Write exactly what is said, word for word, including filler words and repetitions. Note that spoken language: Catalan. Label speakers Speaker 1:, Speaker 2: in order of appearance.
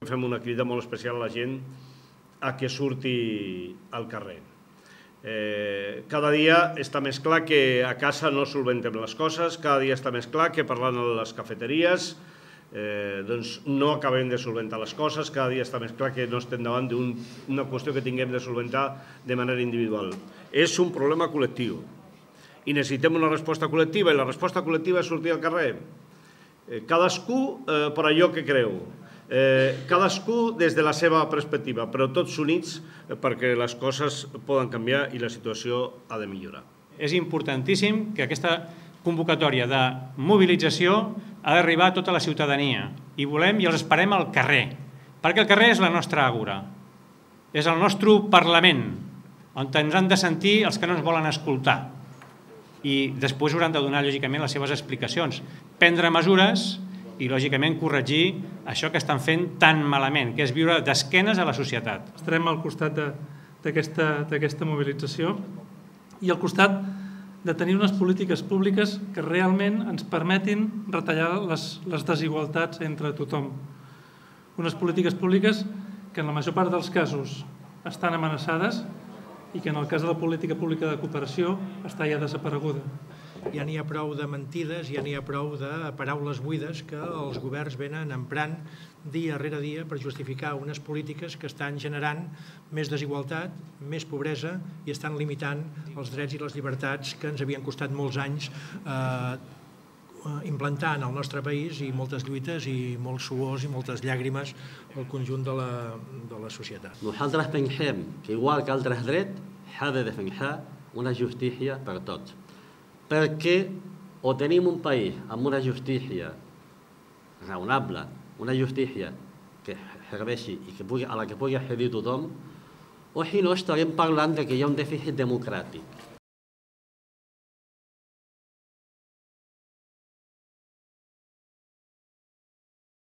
Speaker 1: Fem una crida molt especial a la gent a que surti al carrer. Eh, cada dia està més clar que a casa no solventem les coses, cada dia està més clar que parlant a les cafeteries eh, doncs no acabem de solventar les coses, cada dia està més clar que no estem davant d'una qüestió que tinguem de solventar de manera individual. És un problema col·lectiu i necessitem una resposta col·lectiva, i la resposta col·lectiva és sortir al carrer. Eh, cadascú eh, per allò que creu. Eh, cadascú des de la seva perspectiva, però tots units perquè les coses poden canviar i la situació ha de millorar.
Speaker 2: És importantíssim que aquesta convocatòria de mobilització ha d'arribar a tota la ciutadania i volem i els esperem al carrer, perquè el carrer és la nostra àgora, és el nostre Parlament, on ens han de sentir els que no ens volen escoltar i després hauran de donar lògicament les seves explicacions, prendre mesures i, lògicament, corregir això que estan fent tan malament, que és viure d'esquenes a la societat.
Speaker 3: Estarem al costat d'aquesta mobilització i al costat de tenir unes polítiques públiques que realment ens permetin retallar les, les desigualtats entre tothom. Unes polítiques públiques que en la major part dels casos estan amenaçades i que en el cas de la política pública de cooperació està ja desapareguda.
Speaker 4: Ja n'hi ha prou de mentides, ja n'hi ha prou de paraules buides que els governs venen emprant dia rere dia per justificar unes polítiques que estan generant més desigualtat, més pobresa i estan limitant els drets i les llibertats que ens havien costat molts anys eh, implantar en el nostre país i moltes lluites i molts suors i moltes llàgrimes al conjunt de la, de la societat.
Speaker 5: Nosaltres pensem que igual que altres drets s'ha de defensar una justícia per tots. Perquè o tenim un país amb una justícia raonable, una justícia que serveixi i que pugui, a la que pugui accedir tothom, o si no estarem parlant de que hi ha un dèficit democràtic.